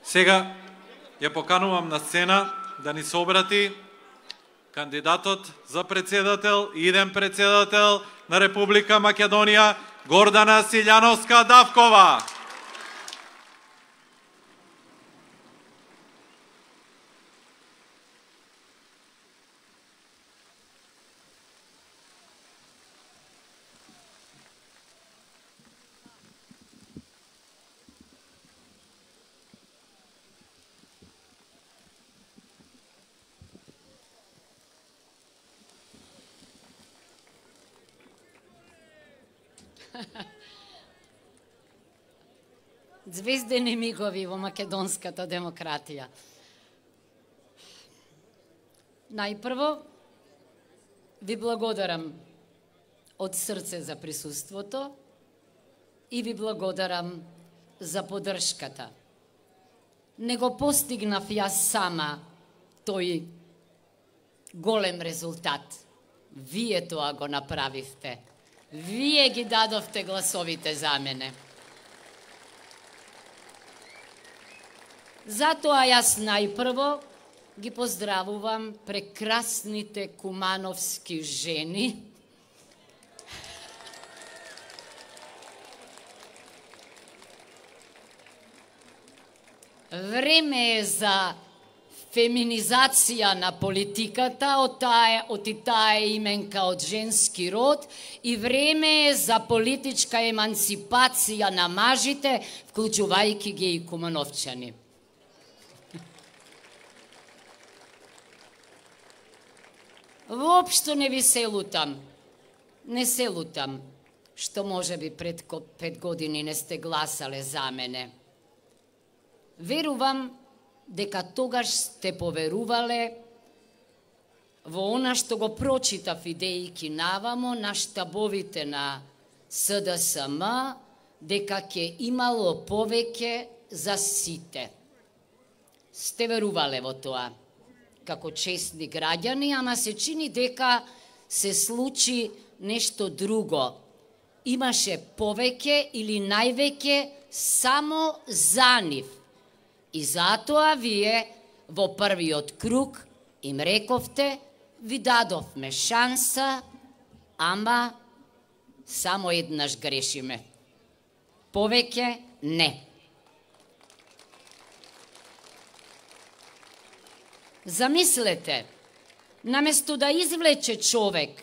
Сега ја поканувам на сцена да ни се обрати кандидатот за председател и иден председател на Република Македонија Гордана Силјановска-Давкова. Звездени мигови во македонската демократија. Најпрво, ви благодарам од срце за присуството и ви благодарам за поддршката. Не го постигнав јас сама тој голем резултат. Вие тоа го направивте. Вие ги дадовте гласовите за мене. Затоа јас најпрво ги поздравувам прекрасните кумановски жени, време е за феминизација на политиката од таа именка од женски род и време е за политичка емансипација на мажите, вклучувајќи ги и кумановчани. Воопшто не ви се лутам. Не се лутам, што може би пред 5 години не сте гласале за мене. Верувам дека тогаш сте поверувале во она што го прочитав идејки навамо на штабовите на СДСМ, дека ќе имало повеќе за сите. Сте верувале во тоа како честни граѓани, ама се чини дека се случи нешто друго. Имаше повеќе или највеќе само за нив. И затоа вие во првиот круг им рековте, ви дадовме шанса, ама само еднаш грешиме. Повеќе не. Замислете, наместо да извлече човек,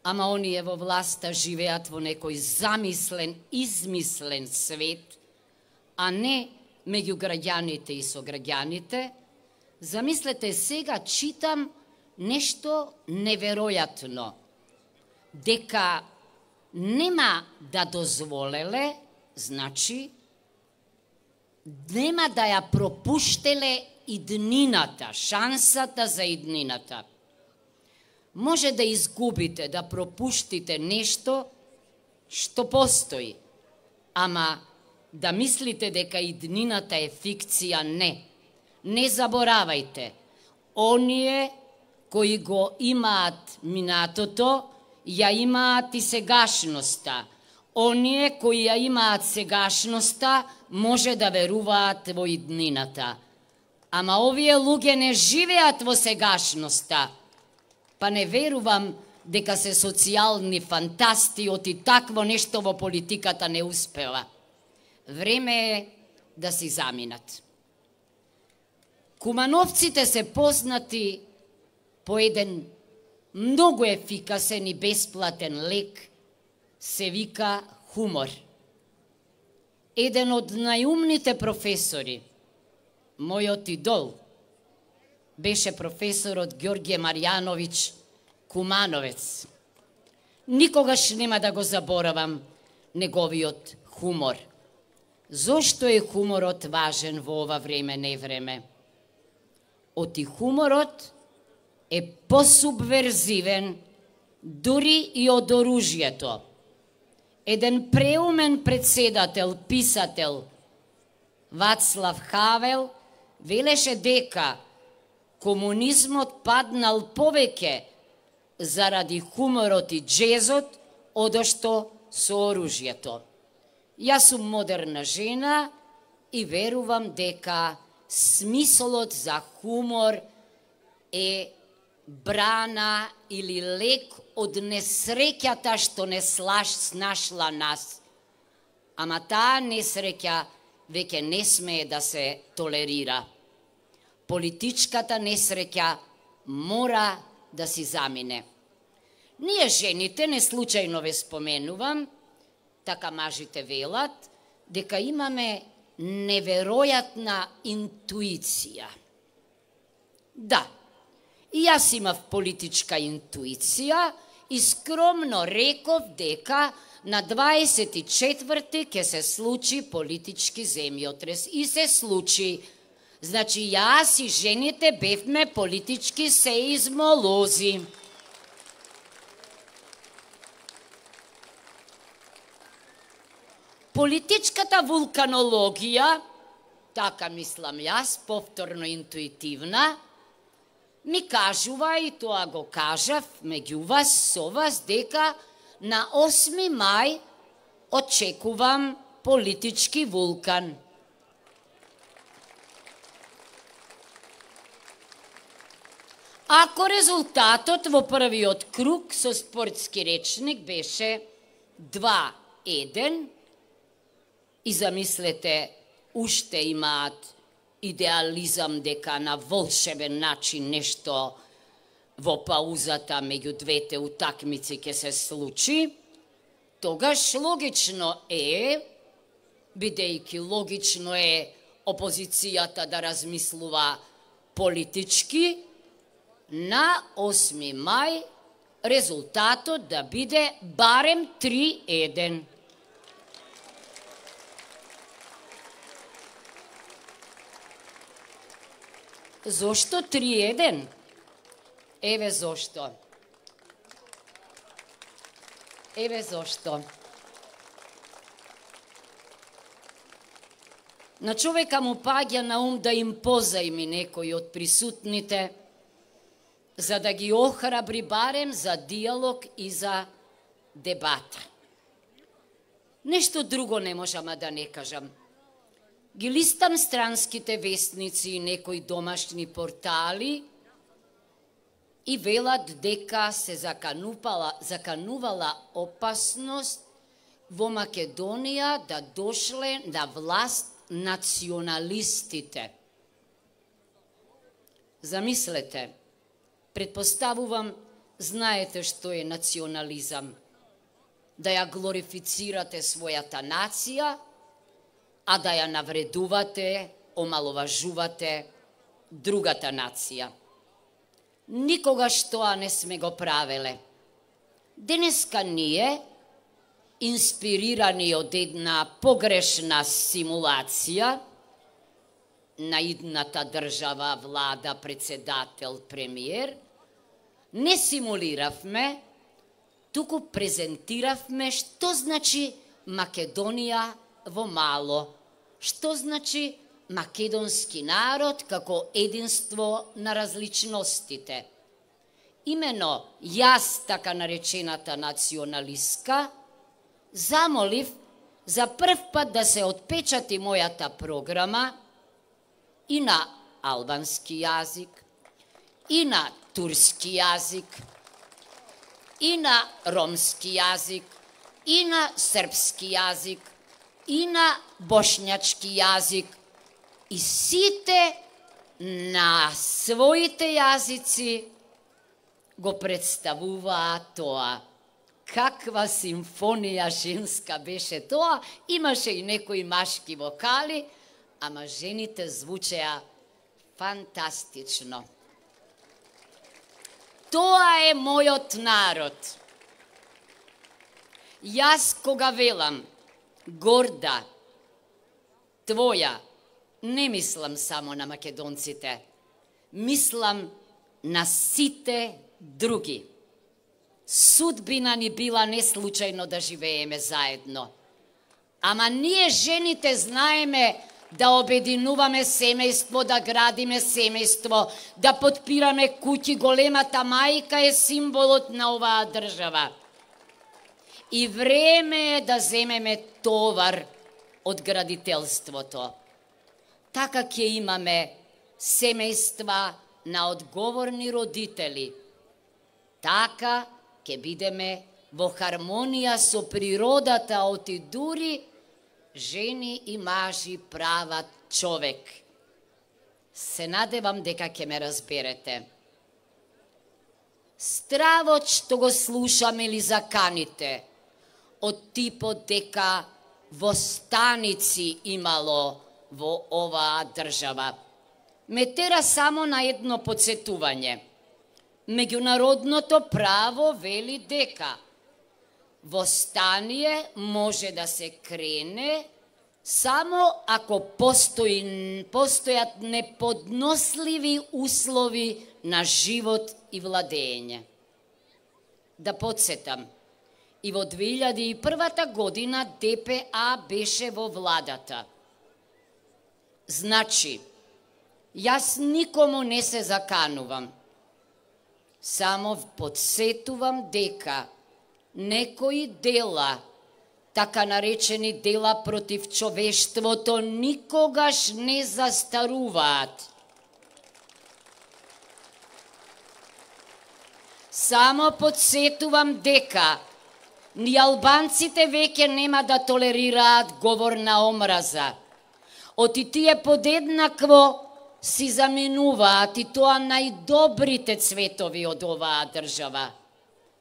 ама оние во власта живеат во некој замислен, измислен свет, а не меѓу граѓаните и сограѓаните, замислете сега читам нешто неверојатно, дека нема да дозволеле, значи, нема да ја пропуштеле иднината, шансата за иднината. Може да изгубите, да пропуштите нешто што постои, ама да мислите дека иднината е фикција, не. Не заборавајте, оние кои го имаат минатото, ја имаат и сегашноста. Оние кои ја имаат сегашноста, може да веруваат во иднината. Ама овие луѓе не живеат во сегашноста, па не верувам дека се социјални фантасти, оти такво нешто во политиката не успела. Време е да си заминат. Кумановците се познати по еден многу ефикасен и бесплатен лек, се вика хумор. Еден од најумните професори, мојот идол, беше професорот Ѓорѓе Марјановиќ Кумановец. Никогаш нема да го заборавам неговиот хумор. Зошто е хуморот важен во ова време, не време? Оти хуморот е посубверзивен дури и од оружјето. Еден преумен председател, писател, Вацлав Хавел, велеше дека комунизмот паднал повеќе заради хуморот и джезот, одошто со оружјето. Јас сум модерна жена и верувам дека смисолот за хумор е брана или лек од несреќата што не снашла нас. Ама таа несреќа веќе не смее да се толерира. Политичката несреќа мора да си замине. Ние жените, не случајно ве споменувам, така мажите велат, дека имаме неверојатна интуиција. Да, и јас имав политичка интуиција и скромно реков дека на 24-ти ќе се случи политички земјотрес. И се случи. Значи, јас и жените бевме политички сеизмолози. Политичката вулканологија, така мислам јас, повторно интуитивна, ми кажува, и тоа го кажав меѓу вас, со вас, дека на 8 мај очекувам политички вулкан. Ако резултатот во првиот круг со спортски речник беше 2-1, и замислете, уште имаат идеализам дека на волшебен начин нешто во паузата меѓу двете утакмици ќе се случи, тогаш логично е, бидејќи логично е опозицијата да размислува политички, на 8 мај резултатот да биде барем 3-1. Зошто 3-1? Еве зошто. Еве зошто. На човека му паѓа на ум да им позајми некој од присутните, за да ги охрабри барем за диалог и за дебата. Нешто друго не можам да не кажам. Ги листам странските вестници и некои домашни портали и велат дека се заканувала опасност во Македонија да дошле на власт националистите. Замислете, предпоставувам, знаете што е национализам. Да ја глорифицирате својата нација, а да ја навредувате, омаловажувате другата нација. Никогаш тоа не сме го правеле. Денеска ние, инспирирани од една погрешна симулација на идната држава, влада, председател, премиер, не симулиравме, туку презентиравме што значи Македонија во мало, што значи македонски народ како единство на различностите. Имено јас, така наречената националистка, замолив за прв пат да се отпечати мојата програма и на албански јазик, и на турски јазик, и на ромски јазик, и на српски јазик, и на бошњачки јазик, и сите на своите јазици го представуваа тоа. Каква симфонија женска беше тоа, имаше и некои машки вокали, ама жените звучеа фантастично. Тоа е мојот народ. Јас кога велам горда, твоја, не мислам само на македонците, мислам на сите други. Судбина ни била не случајно да живееме заедно. Ама ние жените знаеме да обединуваме семејство, да градиме семејство, да потпираме куќи. Големата мајка е символот на оваа држава. И време е да земеме товар од градителството. така ќе имаме семејства на одговорни родители. Така ќе бидеме во хармонија со природата, оти дури жени и мажи прават човек. Се надевам дека ќе ме разберете. Стравот што го слушаме или заканите, од типот дека востаници имало во оваа држава, ме тера само на едно подсетување. Меѓународното право вели дека востание може да се крене само ако постојат неподносливи услови на живот и владење. Да подсетам, и во 2001 година ДПА беше во владата. Значи, јас никому не се заканувам, само подсетувам дека некои дела, така наречени дела против човештвото, никогаш не застаруваат. Само подсетувам дека ни албанците веќе нема да толерираат говор на омраза. Оти тие подеднакво си заменуваат и тоа најдобрите цветови од оваа држава.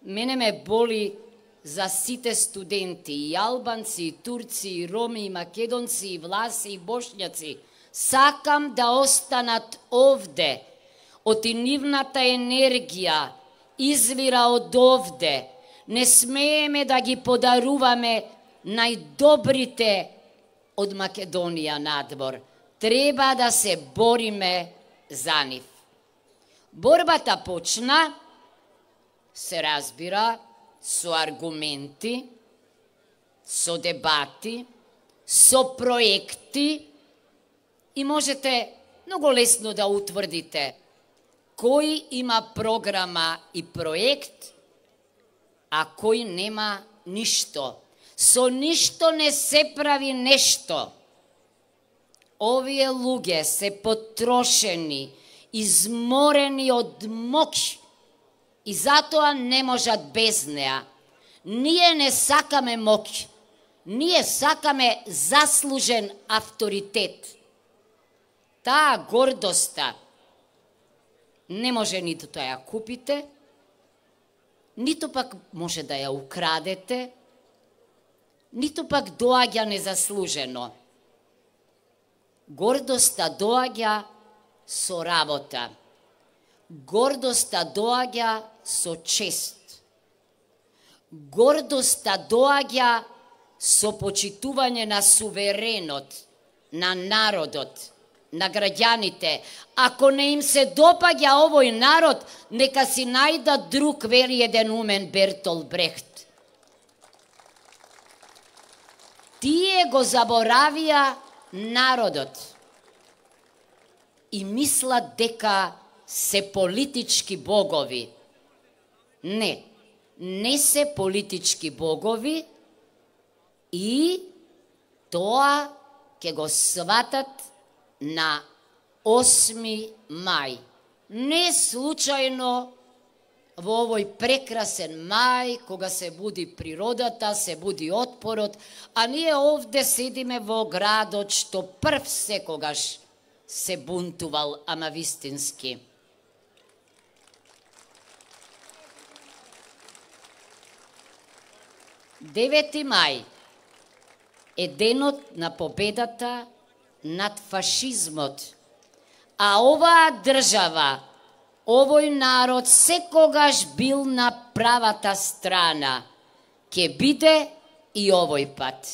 Мене ме боли за сите студенти, и албанци, и турци, и роми, и македонци, и власи, и бошњаци. Сакам да останат овде. Оти нивната енергија извира од овде. Не смееме да ги подаруваме најдобрите од Македонија надвор. Треба да се бориме за нив. Борбата почна, се разбира, со аргументи, со дебати, со проекти и можете многу лесно да утврдите кој има програма и проект, а кој нема ништо. Со ништо не се прави нешто. Овие луѓе се потрошени, изморени од моќ и затоа не можат без неа. Ние не сакаме моќ, ние сакаме заслужен авторитет. Таа гордоста не може ниту да ја купите, ниту пак може да ја украдете, ниту пак доаѓа незаслужено. Гордоста доаѓа со работа. Гордоста доаѓа со чест. Гордоста доаѓа со почитување на суверенот, на народот, на граѓаните. Ако не им се допаѓа овој народ, нека си најдат друг, вели еден умен Бертолд Брехт. Тие го заборавија народот и мислат дека се политички богови. Не, не се политички богови и тоа ќе го сватат на 8 мај. Не случајно во овој прекрасен мај, кога се буди природата, се буди отпорот, а ние овде седиме во градот што прв секогаш се бунтувал, ама вистински. Девети мај е денот на победата над фашизмот, а оваа држава, овој народ секогаш бил на правата страна. Ке биде и овој пат.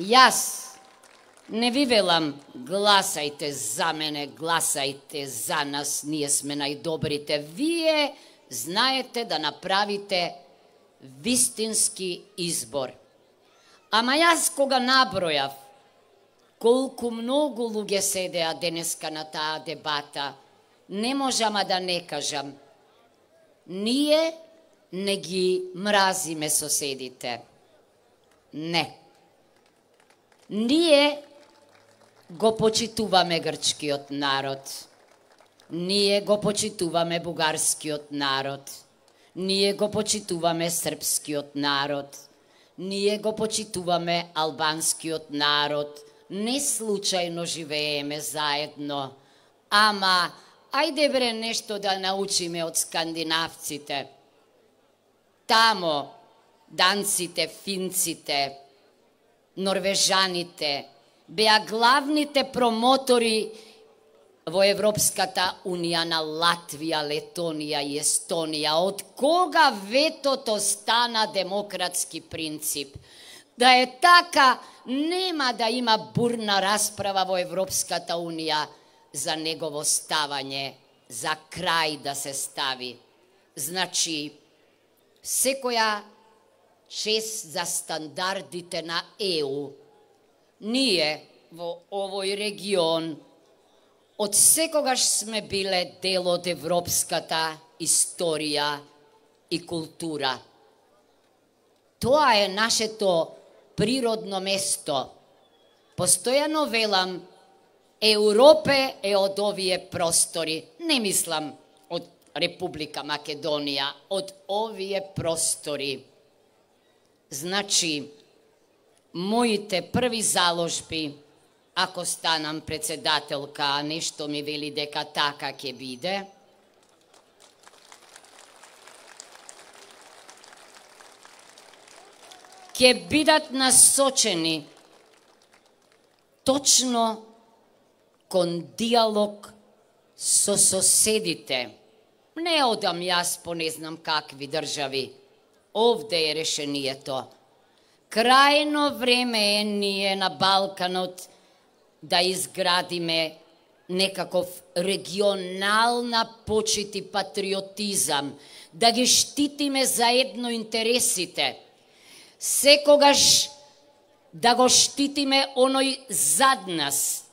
Јас не ви велам гласајте за мене, гласајте за нас, ние сме најдобрите. Вие знаете да направите вистински избор. Ама јас кога набројав колку многу луѓе седеа денеска на таа дебата, не можам да не кажам. Ние не ги мразиме соседите. Не. Ние го почитуваме грчкиот народ. Ние го почитуваме бугарскиот народ. Ние го почитуваме српскиот народ. Ние го почитуваме албанскиот народ. Не случајно живееме заедно. Ама, ајде бре нешто да научиме од скандинавците. Тамо, данците, финците, норвежаните беа главните промотори во Европската унија на Латвија, Летонија и Естонија. Од кога ветото стана демократски принцип? Да е така, нема да има бурна расправа во Европската унија за негово ставање, за крај да се стави. Значи, секоја чест за стандардите на ЕУ, ние во овој регион од секогаш сме биле дел од европската историја и култура. Тоа е нашето природно место. Постојано велам, Европе е од овие простори. Не мислам од Република Македонија, од овие простори. Значи, моите први заложби, ако станам председателка, а нешто ми вели дека така ќе биде, ќе бидат насочени точно кон диалог со соседите. Не одам јас по не знам какви држави. Овде е решението. Крајно време е ние на Балканот да изградиме некаков регионална почит и патриотизам, да ги штитиме заедно интересите. Секогаш да го штитиме оној зад нас.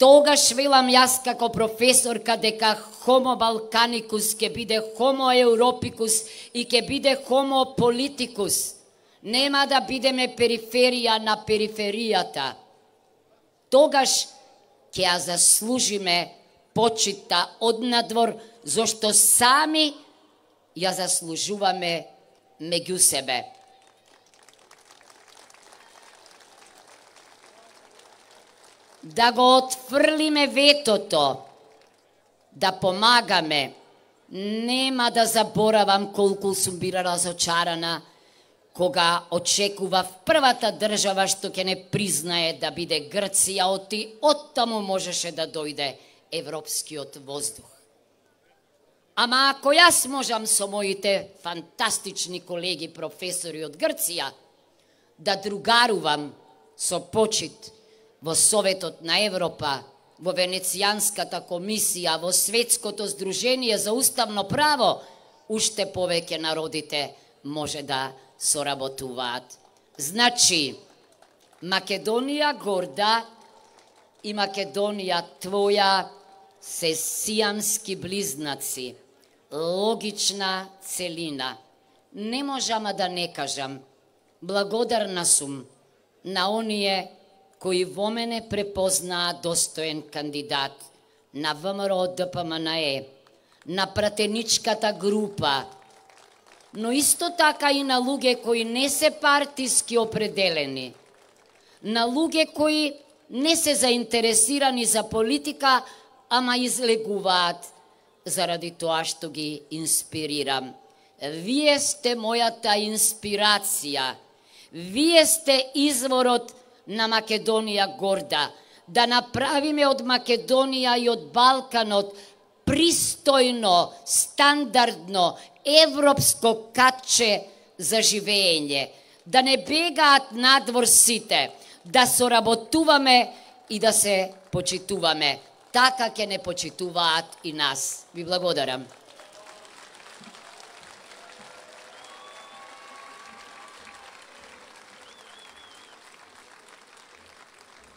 Тогаш велам јас како професорка дека Homo Balkanicus ќе биде Homo Europicus и ќе биде Homo Politicus. Нема да бидеме периферија на периферијата. Тогаш ќе ја заслужиме почита однадвор, зашто сами ја заслужуваме меѓу себе. Да го отфрлиме ветото, да помагаме. Нема да заборавам колку сум била разочарана кога очекував првата држава што ќе не признае да биде Грција, оттаму можеше да дојде европскиот воздух. Ама ако јас можам со моите фантастични колеги професори од Грција да другарувам со почит во Советот на Европа, во Венецијанската комисија, во Светското здружение за уставно право, уште повеќе народите може да соработуваат. Значи, Македонија горда и Македонија твоја се сиамски близнаци, логична целина. Не можам да не кажам, благодарна сум на оние кои во мене препознаа достоен кандидат, на ВМРО ДПМНЕ, на пратеничката група, но исто така и на луѓе кои не се партиски определени, на луѓе кои не се заинтересирани за политика, ама излегуваат заради тоа што ги инспирирам. Вие сте мојата инспирација. Вие сте изворот на Македонија горда. Да направиме од Македонија и од Балканот пристојно, стандардно, европско катче за живење. Да не бегаат надвор сите, да соработуваме и да се почитуваме. Така ќе не почитуваат и нас. Ви благодарам.